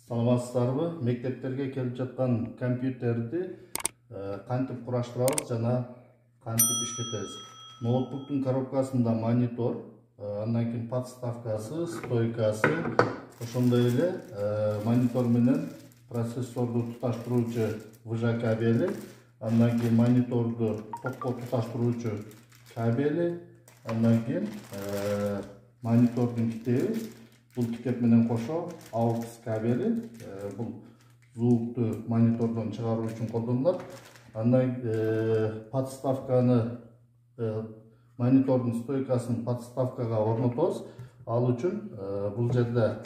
Саламатсыздарбы? Мектептерге келип жаткан компьютерди кантип кураштырабыз жана кантип иштетебиз? Ноутбуктун коробкасында монитор, андан кийин подставкасы, стойкасы, ошондой эле монитор менен процессорду туташтыруучу выжа кабели, андан кийин мониторду токко туташтыруучу кабели, андан кийин монитордун китеби. Бул китеп менен кошо AUX кабели, бул звукту монитордон чыгаруу үчүн колдонулат. Андан подставканы, монитордун стойкасын подставкага орнотобуз. Ал үчүн бул жерде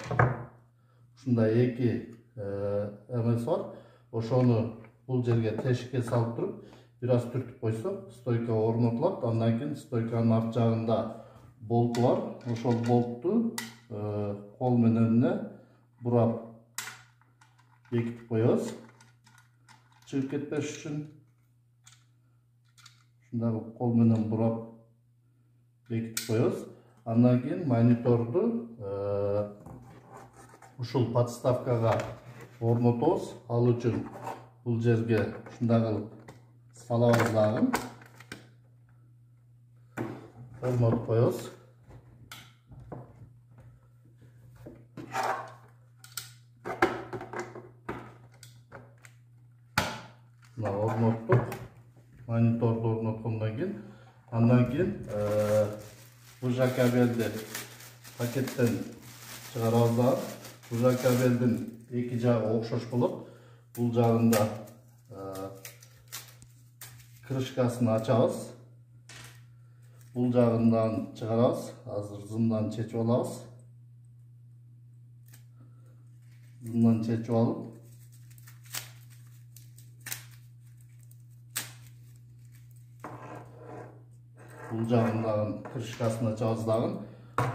ушундай эки эмес бар. Ошону бул жерге тешикке салып туруп, бир аз түртүп койсок, стойка орнотулат. Андан кийин стойканын арт жагында болту бар. Ошол болтту кол менен бурап бекитип коебуз. Чыгып кетпеш үчүн ушундай кол менен бурап бекитип коебуз. Андан кийин мониторду ушул подставкага орнотобуз. Ал үчүн бул жерге ушундай кылып салабыз дагы. Орнотуп коебуз. Орноттук. Мониторду орноткондон кийин, андан кийин выжа кабелди пакеттен чыгарабыз дагы. Выжа кабелдин эки жагы окшош болот. Бул жагында крышкасын ачабыз. Бул жагындан чыгарабыз. Азыр зымдан чечип алабыз. Зымдан чечип алып, бул жагындагы крышкасын ачабыз дагы.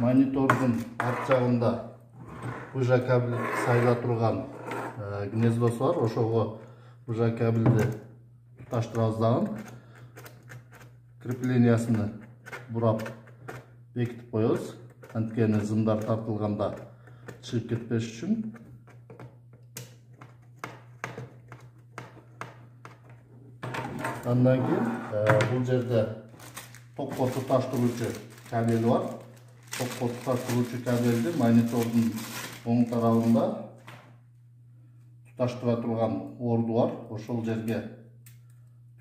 Монитордун арт жагында выжа кабель сайда турган гнездосу бар. Ошого выжа кабелди туташтырабыз дагы. Креплениясыны бурап бекитип коебуз. Анткени зымдар тартылганда чыгып кетпеш үчүн. Андан кийин бул жерде токко туташтыруучу кабели бар. Токко туташтыруучу кабелди монитордун оң тарабында туташтыра турган орду бар. Ошол жерге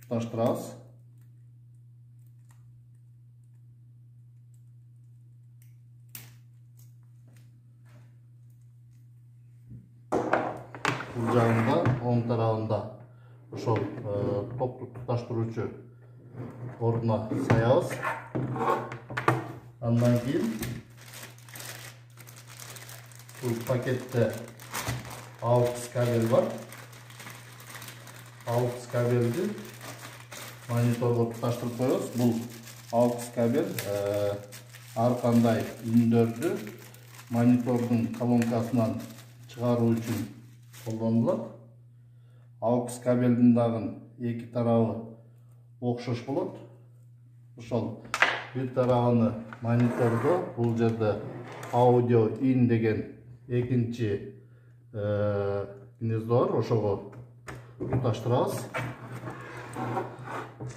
туташтырабыз. Бул жагында оң тарабында ошол токту туташтыруучу ордуна саябыз. Андан кийин бул пакетте AUX кабел бар. AUX кабелди мониторго туташтырып коебуз. Бул AUX кабел ар кандай үндөрдү монитордун колонкасынан чыгаруу үчүн колдонулат. AUX кабелдин дагы эки тарабы окшош болот. Ошол бир тарабыны монитордо, бул жерде аудио ин деген экинчи гнездо бар. Ошого туташтырабыз.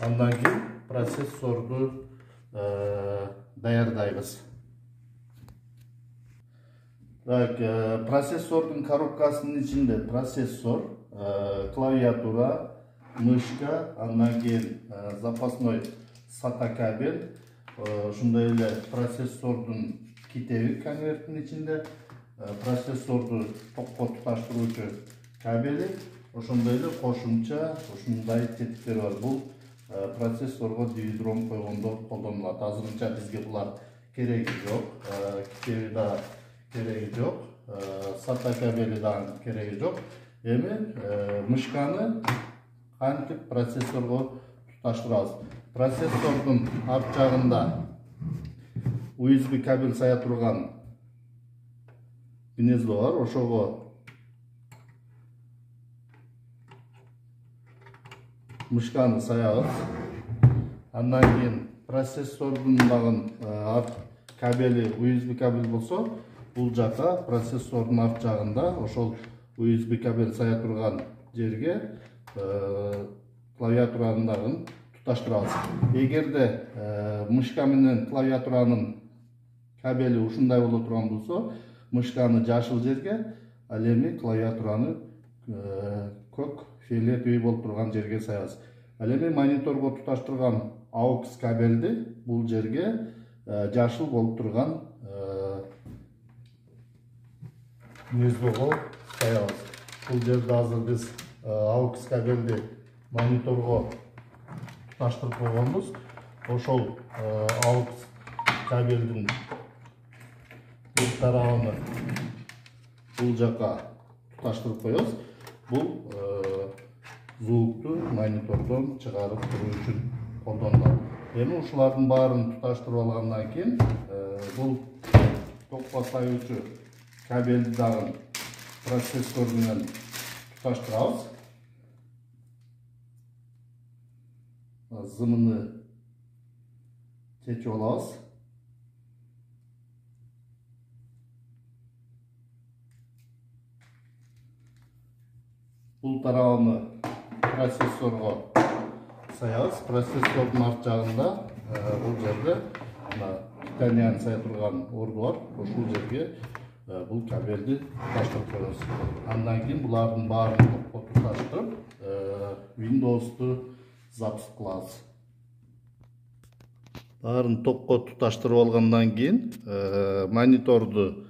Андан кийин процессорду даярдайбыз. Процессордун коробкасынын ичинде процессор, клавиатура, мышка, андан кийин запасной SATA кабель, ошондой эле процессордун китеби конверттин ичинде, процессорду токко туташтыруучу кабели, ошондой эле кошумча ушундай тетиктер бар. Бул процессорго DVD-ROM койгондо колдонулат. Азырынча бизге булар кереги жок, китеби да кереги жок, SATA кабели да кереги жок. Эми мышканы кантип процессорго туташтырабыз? Процессордун арт жагында USB кабель сая турган гнездо бар. Ошого мышканы саябыз. Андан кийин процессордун дагы арт кабели USB кабель болсо, бул жака процессордун арт жагында ошол USB кабель сая турган жерге клавиатуранын дагы туташтырабыз. Эгерде мышка менен клавиатуранын кабели ушундай боло турган болсо, мышканы жашыл жерге, ал эми клавиатураны көк фиолетовый болуп турган жерге саябыз. Ал эми мониторго туташтырган AUX кабелди бул жерге жашыл болуп турган гнездого саябыз. Бул жерде азыр биз AUX кабелди мониторго туташтырып койгонбуз. Ошол AUX кабелдин бир тарабын бул жака туташтырып коебуз. Бул звукту монитордон чыгарып туруу үчүн колдонулат. Эми ушулардын баарын туташтырып алгандан кийин бул токко саюучу кабелди дагы процессор менен туташтырабыз. Зымыны чечип алабыз. Бул тарабын процессорго саябыз. Процессордун арт жагында бул жерде титаниан сая турган орду бар. Ошол жерге бул кабелди туташтырып коебуз. Андан кийин булардын баарын токко туташтырып, Windows'ту запуск кылабыз. Баарын токко туташтырып алгандан кийин мониторду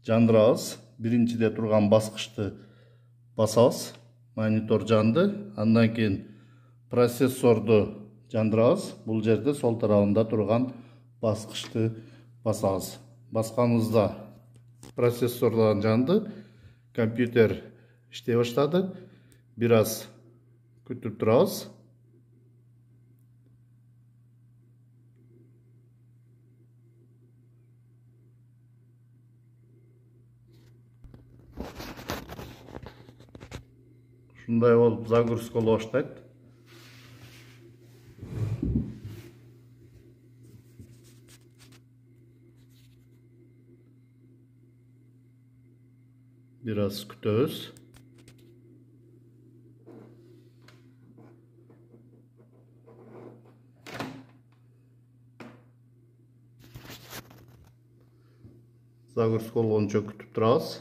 жандырабыз. Биринчиде турган баскычты басабыз. Монитор жанды. Андан кийин процессорду жандырабыз. Бул жерде сол тарабында турган баскычты басабыз. Басканыбызда процессордан жанды. Компьютер иштей баштады. Бир аз күтүп турабыз. Ушундай болуп загрузка боло баштайт. Бир аз күтөбүз. Загрузка болгончо күтүп турабыз.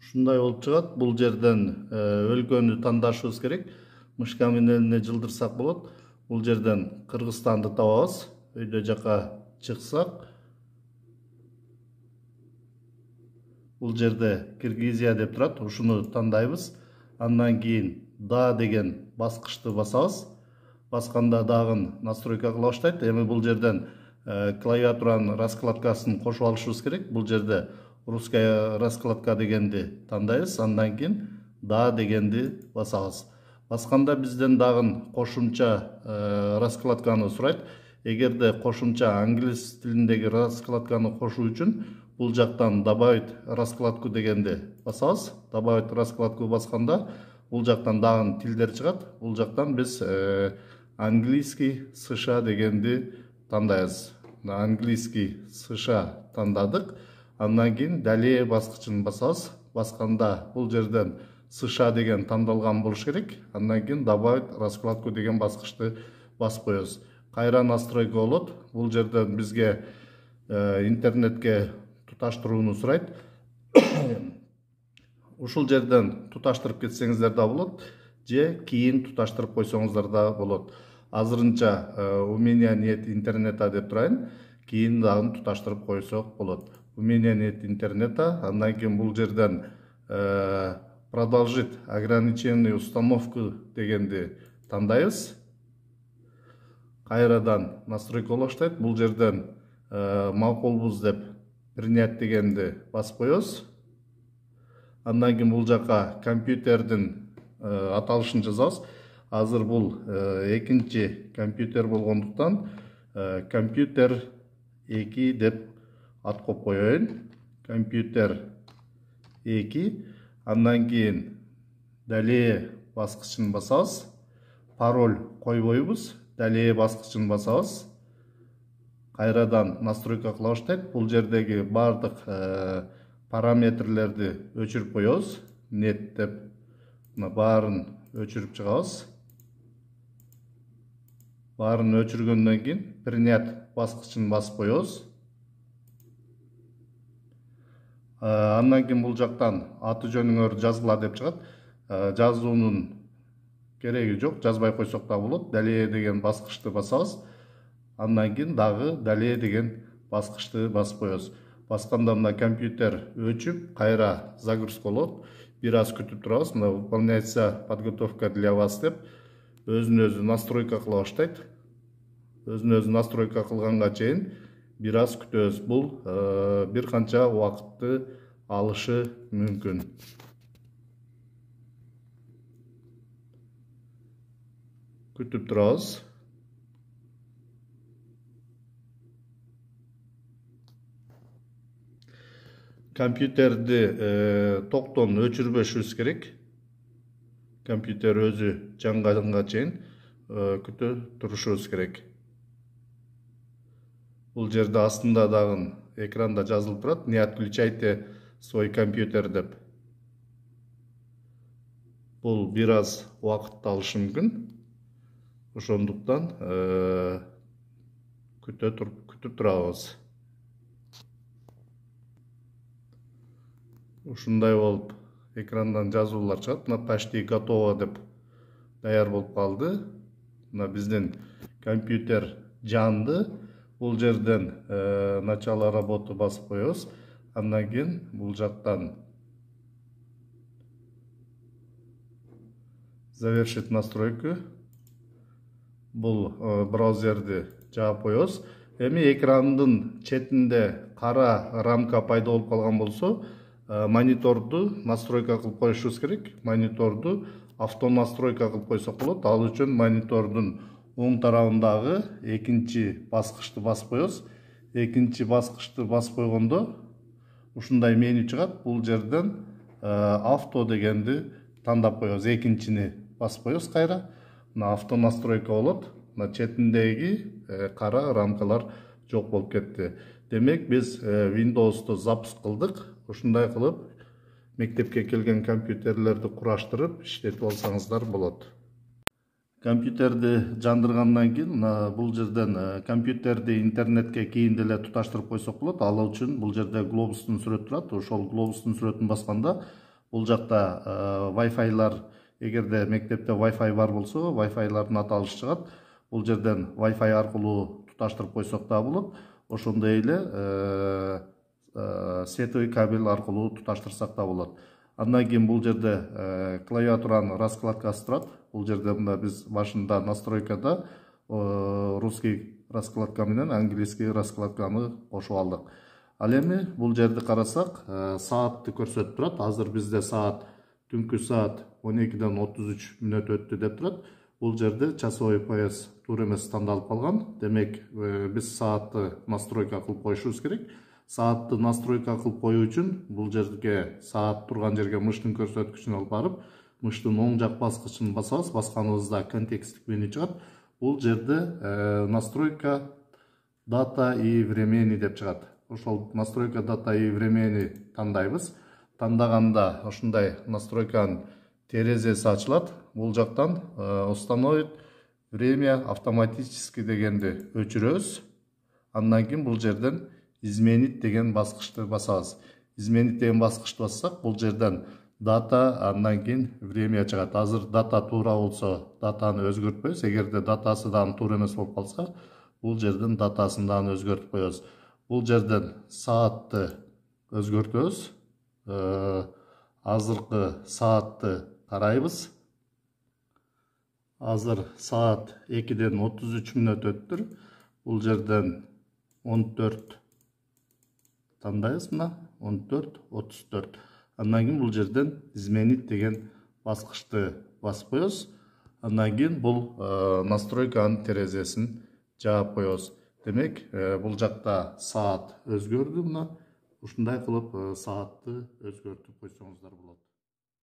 Ушундай болуп чыгат. Бул жерден өлкөнү тандашыбыз керек. Мышка менен эле жылдырсак болот. Бул жерден Кыргызстанды табабыз. Өйдө жака чыксак, бул жерде Киргизия деп турат. Ушуну тандайбыз. Андан кийин да деген баскычты басабыз. Басканда дагы настройка кыла баштайт. Эми бул жерден клавиатуранын раскладкасын кошуп алышыбыз керек. Бул жерде русская раскладка дегенди тандайбыз. Андан кийин да дегенди басабыз. Басканда бизден дагы кошумча раскладканы сурайт. Эгерде кошумча англис тилиндеги раскладканы кошуу үчүн бул жактан добавить раскладку дегенди басабыз. Добавить раскладку басканда бул жактан дагы тилдер чыгат. Бул жактан биз английский США дегенди тандайбыз. Английский США тандадык. Андан кийин далее баскычын басабыз. Басканда бул жерден США деген тандалган болуш керек. Андан кийин добавить раскладку деген баскычты басып коебуз. Кайра настройка болот. Бул жерден бизге интернетке туташтырууну сурайт. Ушул жерден туташтырып кетсеңиздер да болот, же кийин туташтырып койсоңуздар да болот. Азырынча у меня нет интернета деп турайын. Кийин дагы туташтырып койсок болот. У меня нет интернета. Андан кийин бул жерден продолжить ограниченную установку дегенди тандайбыз. Кайрадан настройка боло баштайт. Бул жерден макулбуз деп принять дегенди басып коебуз. Андан кийин бул жака компьютердин аталышын жазабыз. Азыр бул экинчи компьютер болгондуктан компьютер 2 деп ат коюп коеюн. Компьютер 2. Андан кийин далее баскычын басабыз. Пароль койбойбуз. Далее баскычын басабыз. кайрадан настройка кыла баштайт. Бул жердеги бардык параметрлерди өчүрүп коебуз. Нет деп мына баарын өчүрүп чыгабыз. Баарын өчүргөндөн кийин принять баскычын басып коебуз. Андан кийин бул жактан аты жөнүңөр жазгыла деп чыгат. Жазуунун кереги жок, жазбай койсок да болот. Далее деген баскычты басабыз. Андан кийин дагы далее деген баскычты басып коебуз. Басканда мына компьютер өчүп, кайра загрузка болот. Бир аз күтүп турабыз. Мына выполняется подготовка для вас деп өзүн-өзү настройка кыла баштайт. Өзүн-өзү настройка кылганга чейин бир аз күтөбүз. Бул бир канча убакытты алышы мүмкүн. Күтүп турабыз. Компьютерди токтон өчүрбөшүбүз керек. Компьютер өзү жанганга чейин күтө турушубуз керек. Бул жерде астында дагы экранда жазылып турат: не отключайте свой компьютер деп. Бул бир аз убакытты алышы мүмкүн. Ошондуктан күтүп турабыз. Ушундай болуп экрандан жазуулар чыгат. Мына почти готово деп даяр болуп калды. Мына биздин компьютер жанды. Бул жерден начало работы басып коебуз. Андан кийин бул жактан завершить настройку. Бул браузерди жаап коебуз. Эми экрандын четинде кара рамка пайда болуп калган болсо, мониторду настройка кылып коюшубуз керек. Мониторду автонастройка кылып койсок болот. Ал үчүн монитордун оң тарабындагы экинчи баскычты басып коебуз. Экинчи баскычты басып койгондо ушундай меню чыгат. Бул жерден авто дегенди тандап коебуз. Экинчини басып коебуз кайра. Мына автонастройка болот. Мына четиндеги кара рамкалар жок болуп кетти. Демек биз Windows'ты запуск кылдык. Ушундай кылып мектепке келген компьютерлерди кураштырып иштетип алсаңыздар болот. Компьютерди жандыргандан кийин мына бул жерден компьютерди интернетке кийин деле туташтырып койсок болот. Ал үчүн бул жерде глобустун сүрөтү турат. Ошол глобустун сүрөтүн басканда бул жакта Wi-Fi'лар, эгерде мектепте Wi-Fi бар болсо, Wi-Fi'лардын аталышы чыгат. Бул жерден Wi-Fi аркылуу туташтырып койсок да болот. Ошондой эле сетовый кабель аркылуу туташтырсак да болот. Андан кийин бул жерде клавиатуранын раскладкасы турат. Бул жерде мында биз башында настройкада русский раскладка менен английский раскладканы кошуп алдык. Ал эми бул жерди карасак, саатты көрсөтүп турат. Азыр бизде саат түнкү саат 12:33 өттү деп турат. Бул жерде часовой пояс туура эмес тандалып калган. Демек, биз саатты настройка кылып коюшубуз керек. Саатты настройка кылып коюу үчүн бул жерге, саат турган жерге мыштын көрсөткүчүн алып барып, мыштын оң жак баскычын басабыз. Басканыбызда контексттик меню чыгат. Бул жерде настройка дата и времени деп чыгат. Ошол настройка дата и времени тандайбыз. Тандаганда ушундай настройканын терезеси ачылат. Бул жактан установить время автоматически дегенди өчүрөбүз. Андан кийин бул жерден изменить деген баскычты басабыз. Изменить деген баскычты бассак, бул жерден дата, андан кийин время чыгат. Азыр дата туура болсо, датаны өзгөртпөйбүз. Эгерде датасы дагы туура эмес болуп калса, бул жерден датасын дагы өзгөртүп коебуз. Бул жерден саатты өзгөртөбүз. Азыркы саатты карайбыз. Азыр саат 2:33 өттүр. Бул жерден 14 тандайбыз мына, 14:34. Андан кийин бул жерден изменить деген баскычты басып коебуз. Андан кийин бул настройканын терезесин жаап коебуз. Демек, бул жакта саат өзгөрдү мына. Ушундай кылып саатты өзгөртүп койсоңуздар болот.